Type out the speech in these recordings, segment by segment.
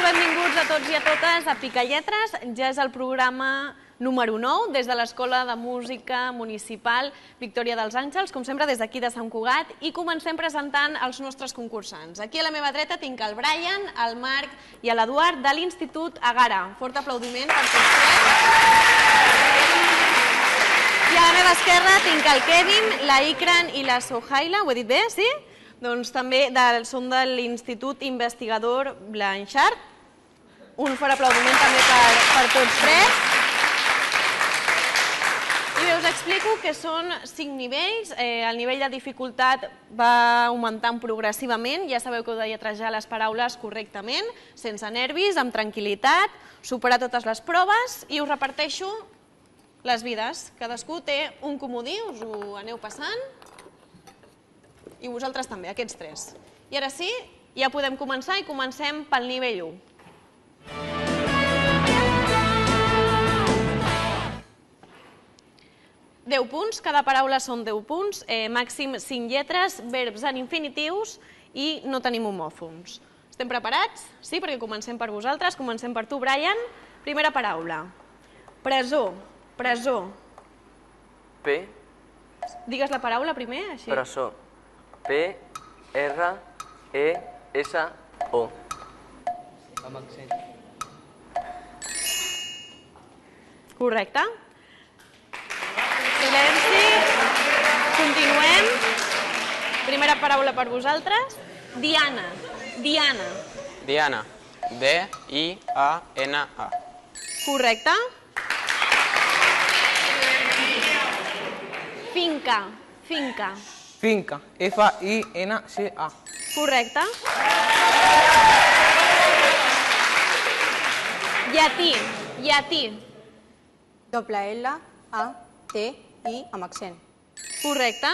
benvinguts a tots i a totes a Picalletres. Ja és el programa número 9 des de l'Escola de Música Municipal Victòria dels Àngels, com sempre des d'aquí de Sant Cugat, i comencem presentant els nostres concursants. Aquí a la meva dreta tinc el Brian, el Marc i l'Eduard de l'Institut Agara. Fort aplaudiment per tots tres. I a la meva esquerra tinc el Kevin, la Ikran i la Sohaila. Ho he dit bé, sí? Doncs també són de l'Institut Investigador Blanchard. Un fort aplaudiment també per tots tres. I bé, us explico que són 5 nivells. El nivell de dificultat va augmentant progressivament. Ja sabeu que heu de lletrejar les paraules correctament, sense nervis, amb tranquil·litat, superar totes les proves i us reparteixo les vides. Cadascú té un comodí, us ho aneu passant. I vosaltres també, aquests tres. I ara sí, ja podem començar i comencem pel nivell 1. Deu punts, cada paraula són 10 punts, màxim 5 lletres, verbs en infinitius i no tenim homòfons. Estem preparats? Sí, perquè comencem per vosaltres, comencem per tu, Brian. Primera paraula. Presó, presó. P. Digues la paraula primer, així. Presó. P-R-E-S-O. Amb accent. Correcte. Silenci. Continuem. Primera paraula per vosaltres. Diana. Diana. Diana. D-I-A-N-A. Correcte. Finca. Finca. Finca. F-I-N-C-A. Correcte. Llatí. Llatí. Doble L, A, T, I amb accent. Correcte.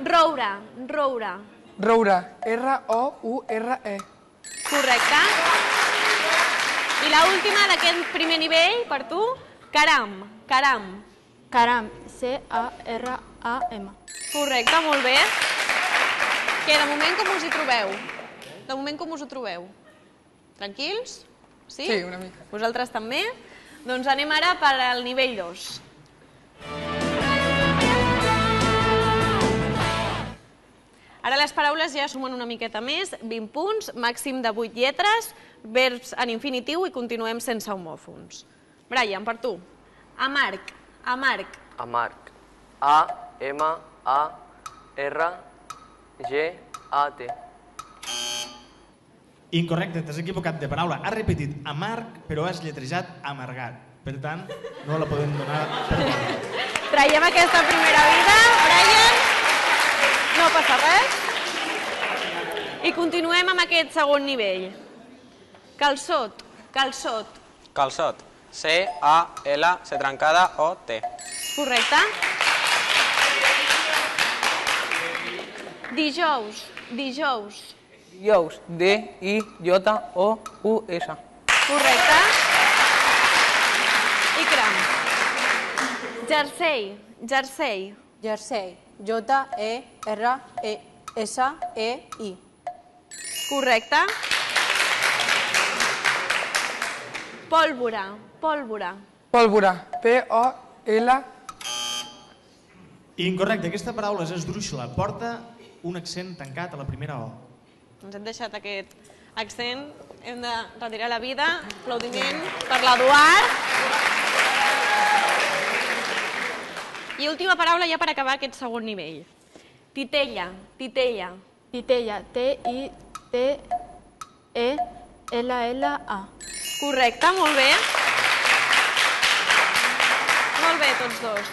Roure. Roure. Roure. R-O-U-R-E. Correcte. I l'última d'aquest primer nivell, per tu, caram. Caram. Caram, C-A-R-A-M. Correcte, molt bé. Què, de moment com us hi trobeu? De moment com us ho trobeu? Tranquils? Sí? Sí, una mica. Vosaltres també? Doncs anem ara per al nivell 2. Ara les paraules ja sumen una miqueta més, 20 punts, màxim de 8 lletres, verbs en infinitiu i continuem sense homòfons. Brian, per tu. Amarg. Amarg. Amarg. A-M-A-R-G-A-T. Incorrecte, t'has equivocat de paraula. Has repetit amarg, però has lletrejat amargat. Per tant, no la podem donar per bona. Traiem aquesta primera vida, Brian. No passa res. I continuem amb aquest segon nivell. Calçot. Calçot. Calçot. C-A-L-C trencada O-T. Correcte. Dijous. Dijous. Dijous. D-I-J-O-U-S. Correcte. Ikram. Jersei. Jersei. Jersei, J-E-R-E-S-E-I. Correcte. Pólvora. Pólvora. Pólvora. P-O-L... Incorrecte, aquesta paraula és esdrúixola. Porta un accent tancat a la primera O. Ens hem deixat aquest accent. Hem de retirar la vida. Aplaudiment per l'Eduard. I última paraula ja per acabar aquest segon nivell. Titella. Titella. Titella, T-I-T-E-L-L-A. Correcte, molt bé. Molt bé, tots dos.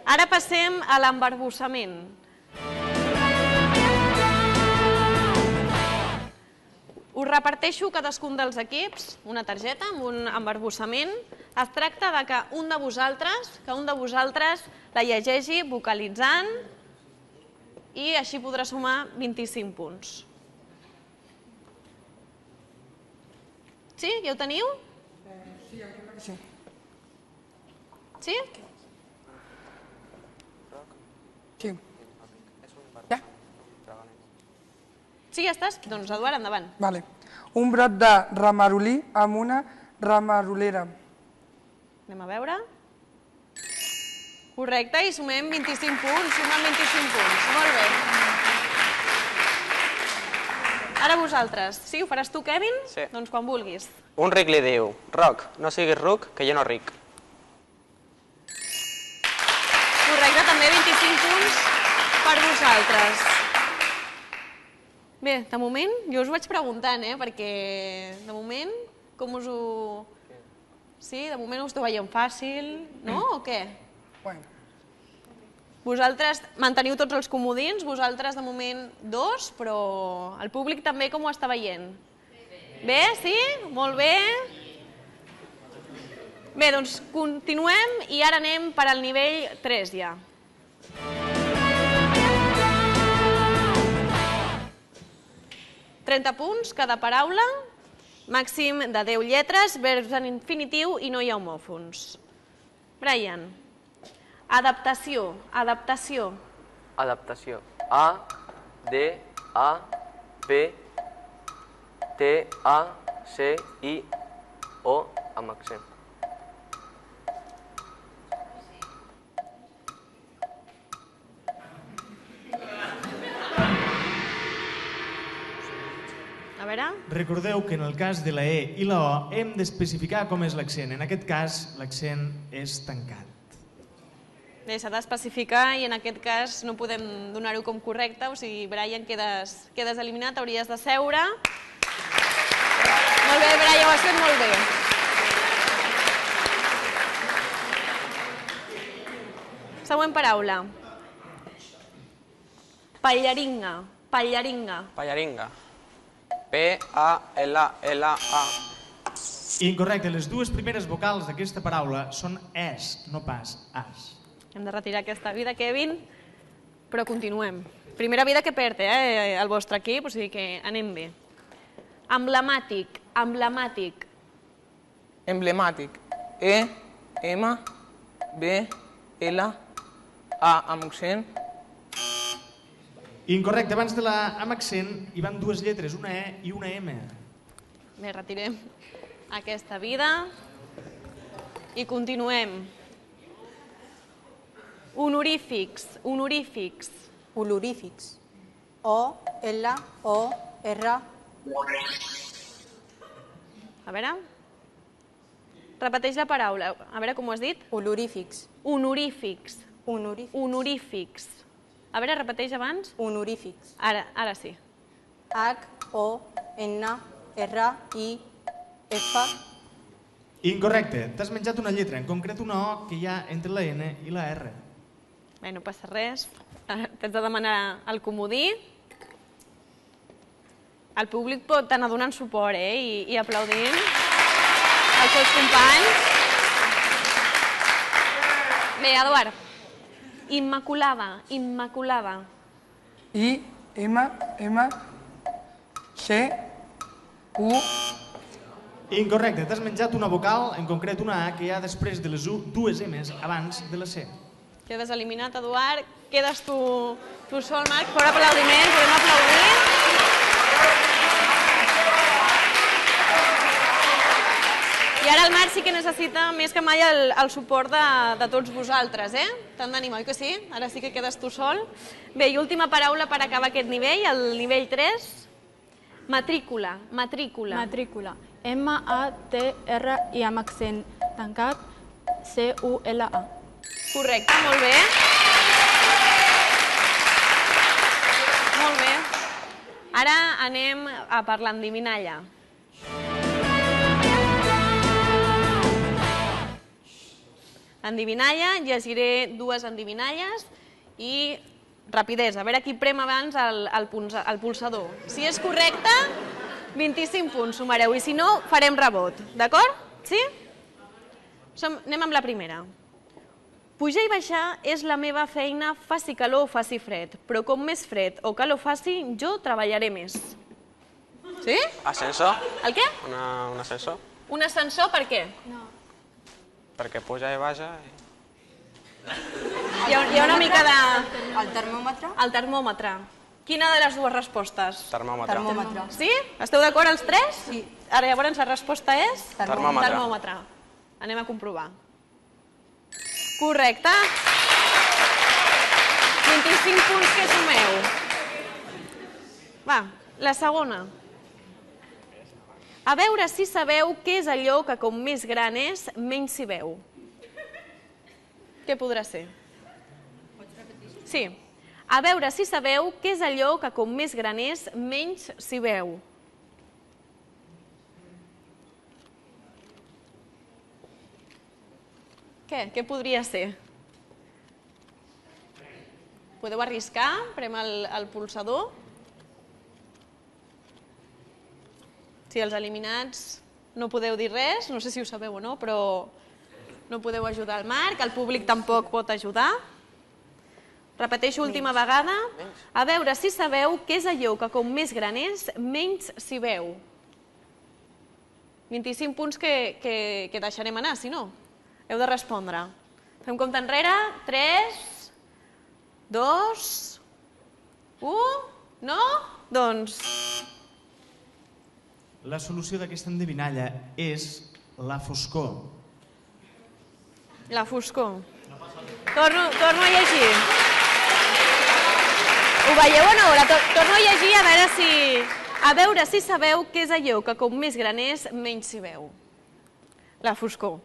Ara passem a l'embarbussament. Us reparteixo cadascun dels equips una targeta amb un embarbussament. Es tracta de que un de vosaltres la llegeixi vocalitzant i així podrà sumar 25 punts. Sí? Ja ho teniu? Sí, em sembla que sí. Sí? Sí. Ja? Sí, ja estàs? Doncs, Eduard, endavant. Vale. Un brot de ramarolí amb una ramarolera. Anem a veure. Correcte, i sumem 25 punts. Sumem 25 punts. Molt bé. Ara vosaltres. Sí, ho faràs tu, Kevin? Sí. Doncs quan vulguis. Un ric li diu, Roc, no siguis ruc, que jo no ric. Correcte, també 25 punts per vosaltres. Bé, de moment, jo us vaig preguntant, perquè de moment, com us ho... Sí, de moment us ho veiem fàcil, no? O què? Bueno. Vosaltres manteniu tots els comodins, vosaltres de moment 2, però el públic també com ho està veient? Bé, sí? Molt bé. Bé, doncs continuem i ara anem per al nivell 3 ja. ...30 punts cada paraula, màxim de 10 lletres, verbs en infinitiu i no hi ha homòfons. Brian. Adaptació, adaptació. Adaptació. A, D, A, P, T, A, C, I, O, amb accent. A veure... Recordeu que en el cas de la E i la O hem d'especificar com és l'accent. En aquest cas, l'accent és tancat. Bé, s'ha d'especificar i en aquest cas no podem donar-ho com correcte, o sigui, Brian, quedes eliminat, hauries de seure. Molt bé, Brian, ho has fet molt bé. Següent paraula. Pallaringa, pallaringa. Pallaringa. P-A-L-L-A. Incorrecte, les dues primeres vocals d'aquesta paraula són es, no pas as. Hem de retirar aquesta vida, Kevin, però continuem. Primera vida que perd, el vostre equip, o sigui que anem bé. Emblemàtic, emblemàtic. Emblemàtic. E, M, B, L, A amb accent. Incorrecte, abans de la amb accent hi van dues lletres, una E i una M. Bé, retirem aquesta vida i continuem. Honorífics, honorífics. Olorífics. O, L, O, R. A veure. Repeteix la paraula. A veure com ho has dit. Olorífics. Honorífics. Honorífics. Honorífics. A veure, repeteix abans. Honorífics. Ara sí. H, O, N, R, I, F. Incorrecte, t'has menjat una lletra, en concret una O que hi ha entre la N i la R. Bé, no passa res. T'has de demanar el comodí. El públic pot anar donant suport i aplaudint els seus companys. Bé, Eduard. Immaculada, immaculada. I, M, M, C, U. Incorrecte, t'has menjat una vocal, en concret una A, que hi ha després de les dues M's abans de la C. Quedes eliminat, Eduard. Quedes tu sol, Marc. Fora aplaudiment, podem aplaudir. I ara el Marc sí que necessita més que mai el suport de tots vosaltres, T'han d'animar, oi que sí? Ara sí que quedes tu sol. Bé, i última paraula per acabar aquest nivell, el nivell 3. Matrícula, matrícula. Matrícula. M-A-T-R-I amb accent tancat, C-U-L-A. Correcte, molt bé. Molt bé. Ara anem a per l'endivinalla. Endivinalla, llegiré dues endivinalles i rapidesa. A veure qui prem abans el pulsador. Si és correcte, 25 punts sumareu i si no, farem rebot. D'acord? Sí? Anem amb la primera. Pujar i baixar és la meva feina, faci calor o faci fred, però com més fred o calor faci, jo treballaré més. Sí? Ascensor? El què? Un ascensor? Un ascensor per què? No. Perquè puja i baixa... Hi ha una mica de... El termòmetre. El termòmetre. Quina de les dues respostes? Termòmetre. Termòmetre. Sí? Esteu d'acord els tres? Sí. Ara, llavors, la resposta és? Termòmetre. Termòmetre. Anem a comprovar. Correcte. 25 punts que sumeu. Va, la segona. A veure si sabeu què és allò que com més gran és, menys s'hi veu. Què podrà ser? Sí. A veure si sabeu què és allò que com més gran és, menys s'hi veu. Què podria ser? Podeu arriscar? Prem el pulsador. Si els eliminats no podeu dir res, no sé si ho sabeu o no, però no podeu ajudar el Marc, el públic tampoc pot ajudar. Repeteixo última vegada. A veure si sabeu què és allò que com més gran és, menys s'hi veu. 25 punts que deixarem anar, si no. Heu de respondre. Fem compte enrere. 3, 2, 1... No? Doncs... La solució d'aquesta endevinalla és la foscor. La foscor. Torno a llegir. Ho veieu o no? Torno a llegir a veure si sabeu què és allò que com més gran és, menys s'hi veu. La foscor.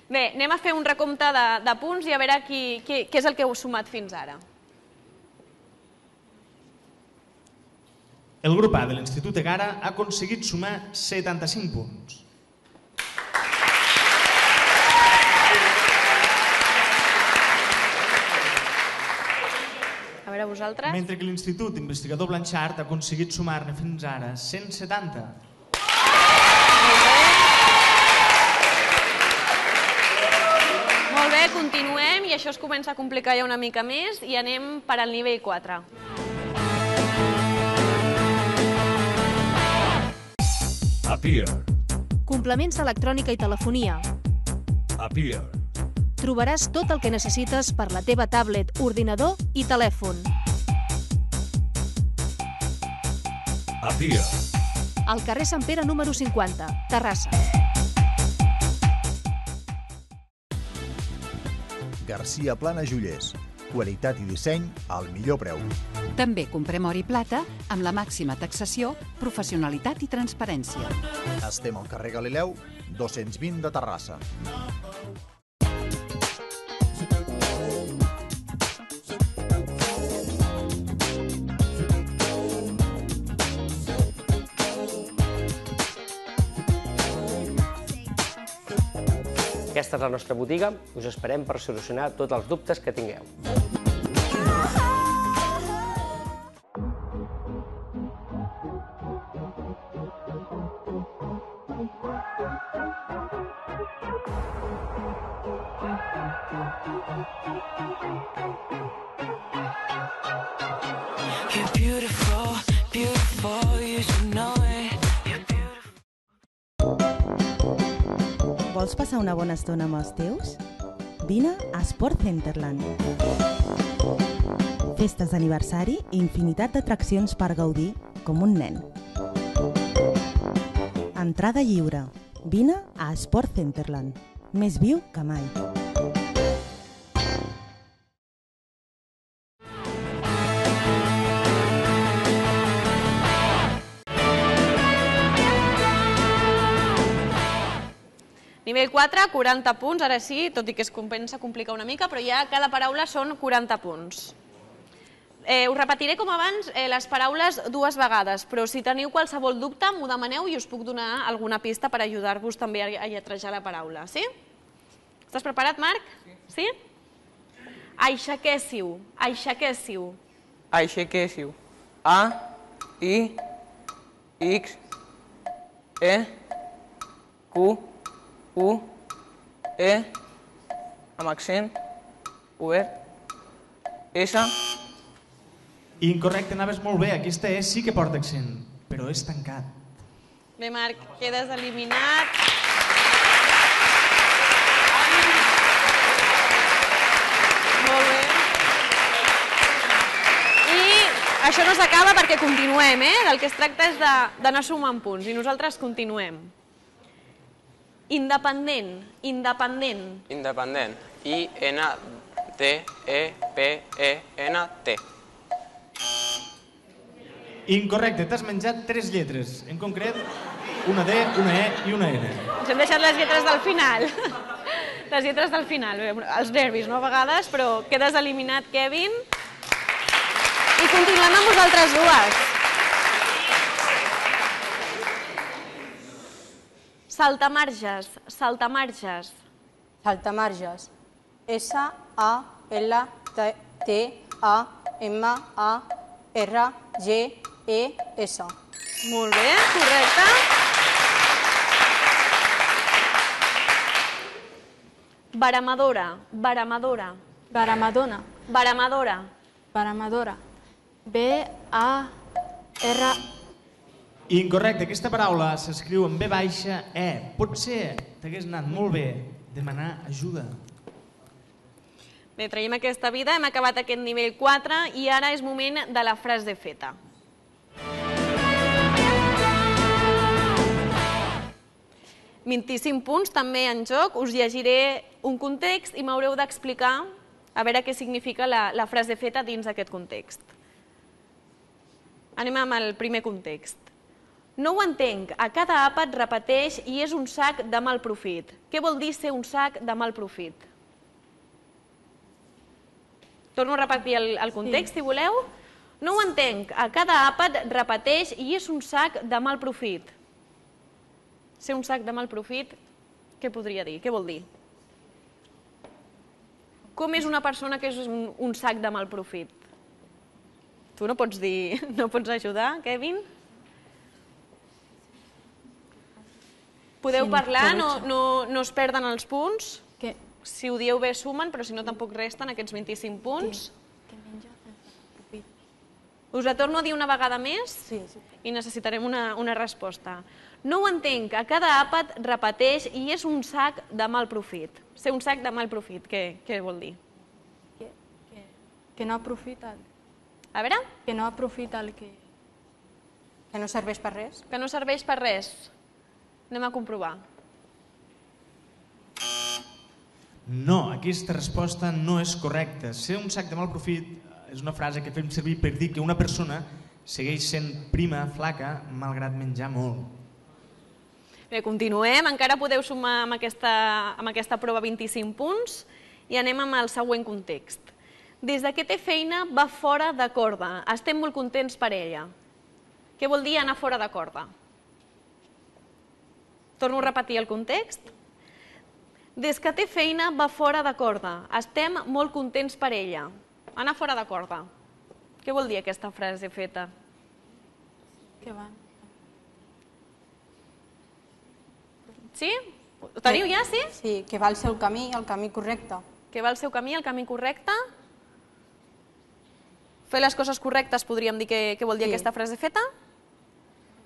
Bé, anem a fer un recompte de punts i a veure què és el que heu sumat fins ara. El grup A de l'Institut Egara ha aconseguit sumar 75 punts. A veure, vosaltres. Mentre que l'Institut Investigador Blanchard ha aconseguit sumar-ne fins ara 170. Molt bé, continuem i això es comença a complicar ja una mica més i anem per al nivell 4. Appear. Complements d'electrònica i telefonia. Appear. Trobaràs tot el que necessites per la teva tablet, ordinador i telèfon. Appear. Al carrer Sant Pere número 50, Terrassa. Garcia Plana Joiers. Qualitat i disseny al millor preu. També comprem or i plata amb la màxima taxació, professionalitat i transparència. Estem al carrer Galileu, 220 de Terrassa. Aquesta és la nostra botiga. Us esperem per solucionar tots els dubtes que tingueu. Vols passar una bona estona amb els teus? Vine a Sport Centerland. Festes d'aniversari i infinitat d'atraccions per gaudir com un nen. Entrada lliure. Vine a Sport Centerland. Més viu que mai. Nivell 4, 40 punts, ara sí, tot i que es comença a complicar una mica, però ja cada paraula són 40 punts. Us repetiré com abans les paraules dues vegades, però si teniu qualsevol dubte m'ho demaneu i us puc donar alguna pista per ajudar-vos també a lletrejar la paraula, sí? Estàs preparat, Marc? Sí? Aixequéssiu, aixequéssiu. Aixequéssiu. A, I, X, E, Q, U, E, amb accent, obert, S. Incorrecte, anaves molt bé. Aquesta E sí que porta accent, però és tancat. Bé, Marc, quedes eliminat. Molt bé. I això no s'acaba perquè continuem, Del que es tracta és d'anar sumant punts i nosaltres continuem. Independent, independent. Independent. I-N-D-E-P-E-N-T. Incorrecte, t'has menjat 3 lletres, en concret una D, una E i una N. Ens hem deixat les lletres del final. Les lletres del final, els nervis, no? A vegades, però quedes eliminat, Kevin. I continuem amb vosaltres dues. Saltamarges, saltamarges. Saltamarges. S-A-L-T-A-M-A-R-G-E-S. Molt bé, correcte. Baramadora, baramadora. Baramadona. Baramadora. Baramadora. B-A-R... Incorrecte, aquesta paraula s'escriu amb B baixa, E. Potser t'hagués anat molt bé demanar ajuda. Bé, traiem aquesta vida, hem acabat aquest nivell 4 i ara és moment de la frase feta. «25 punts també en joc, us llegiré un context i m'haureu d'explicar a veure què significa la frase feta dins d'aquest context. Anem amb el primer context. No ho entenc, a cada àpat repeteix i és un sac de mal profit. Què vol dir ser un sac de mal profit? Torno a repetir el context, si voleu. No ho entenc, a cada àpat repeteix i és un sac de mal profit. Ser un sac de mal profit, què podria dir? Què vol dir? Com és una persona que és un sac de mal profit? Tu no pots dir, no pots ajudar, Kevin? Podeu parlar, no es perden els punts. Si ho dieu bé sumen, però si no tampoc resten aquests 25 punts. Us la torno a dir una vegada més i necessitarem una resposta. No ho entenc, a cada àpat repeteix i és un sac de mal profit. Ser un sac de mal profit, què vol dir? Que no aprofita. A veure? Que no aprofita el que... Que no serveix per res. Que no serveix per res. Anem a comprovar. No, aquesta resposta no és correcta. Ser un sac de mal profit és una frase que fem servir per dir que una persona segueix sent prima, flaca, malgrat menjar molt. Bé, continuem. Encara podeu sumar amb aquesta prova 25 punts i anem amb el següent context. Des que té feina va fora de corda. Estem molt contents per ella. Què vol dir anar fora de corda? Torno a repetir el context. Des que té feina va fora de corda. Estem molt contents per ella. Anar fora de corda. Què vol dir aquesta frase feta? Que van. Sí? Ho teniu ja, sí? Sí, que va al seu camí, el camí correcte. Que va al seu camí, el camí correcte. Fer les coses correctes podríem dir què vol dir aquesta frase feta?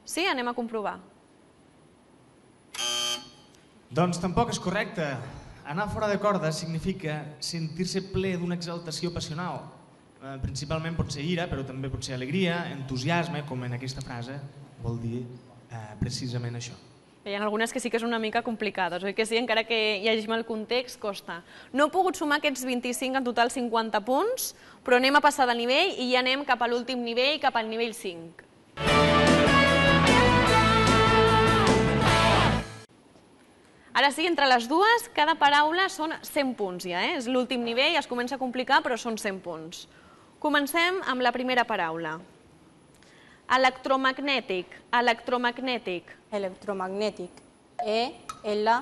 Sí? Anem a comprovar. Doncs tampoc és correcte. Anar fora de corda significa sentir-se ple d'una exaltació passional. Principalment pot ser ira, però també pot ser alegria, entusiasme, com en aquesta frase vol dir precisament això. Hi ha algunes que sí que són una mica complicades, oi que sí? Encara que llegim el context, costa. No he pogut sumar aquests 25, en total 50 punts, però anem a passar de nivell i ja anem cap a l'últim nivell, cap al nivell 5. Ara sí, entre les dues, cada paraula són 100 punts ja, És l'últim nivell, es comença a complicar, però són 100 punts. Comencem amb la primera paraula. Electromagnètic, electromagnètic. Electromagnètic. E-L-C-T-R...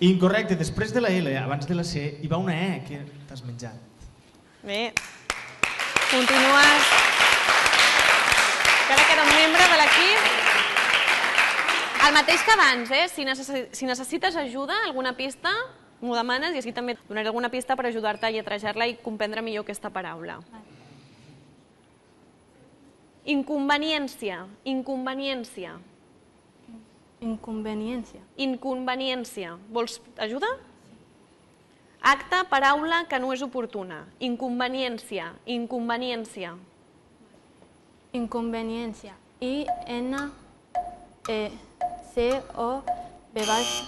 Incorrecte, després de la L, abans de la C, hi va una E que t'has menjat. Bé, continues. Encara queda un membre de l'equip. El mateix que abans, si necessites ajuda, alguna pista, m'ho demanes i així també donaré alguna pista per ajudar-te a lletrejar-la i comprendre millor aquesta paraula. Inconveniència, inconveniència. Inconveniència. Inconveniència. Vols ajuda? Acte, paraula que no és oportuna. Inconveniència, inconveniència. Inconveniència. I-N-E-C-O-V baixa.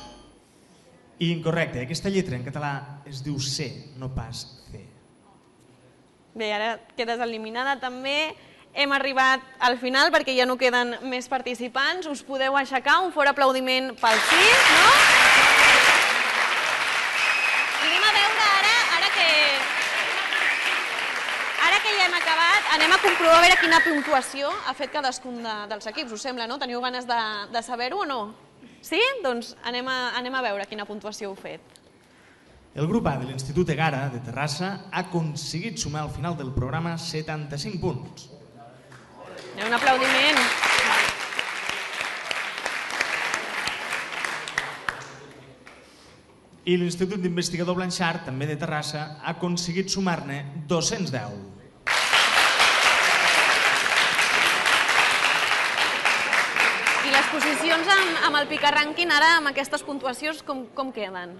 I incorrecte, aquesta lletra en català es diu C, no pas C. Bé, ara quedes eliminada també. Hem arribat al final perquè ja no queden més participants. Us podeu aixecar, un fort aplaudiment pel sí, no? I anem a veure ara que ja hem acabat, anem a comprovar a veure quina puntuació ha fet cadascun dels equips. Us sembla, no? Teniu ganes de saber-ho o no? Sí? Doncs anem a veure quina puntuació heu fet. El grup A de l'Institut Egara de Terrassa ha aconseguit sumar al final del programa 75 punts. Un aplaudiment. I l'Institut d'Investigador Blanchard, també de Terrassa, ha aconseguit sumar-ne 210. I les posicions amb el picarrànquing, ara amb aquestes puntuacions, com queden?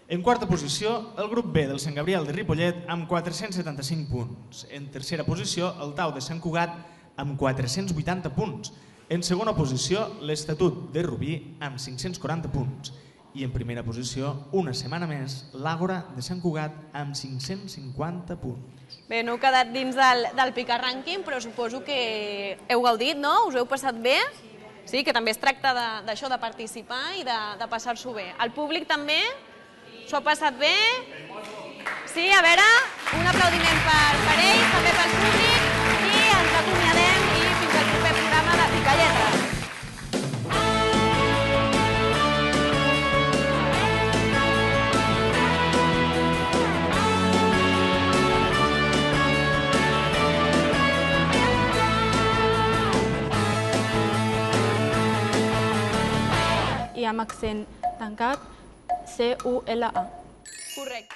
En quarta posició, el grup B del Sant Gabriel de Ripollet amb 475 punts. En tercera posició, el Tau de Sant Cugat amb 480 punts. En segona posició, l'Estatut de Rubí amb 540 punts. I en primera posició, una setmana més, l'Àgora de Sant Cugat amb 550 punts. Bé, no heu quedat dins del picarrànquing, però suposo que heu gaudit, no? Us heu passat bé? Sí, que també es tracta d'això, de participar i de passar-s'ho bé. El públic també s'ho ha passat bé? Sí, a veure, un aplaudiment per ells, també pel públic, i ens acomiadem i fins al proper programa de Picalletres. I amb accent tancat, C-U-L-A. Correcte.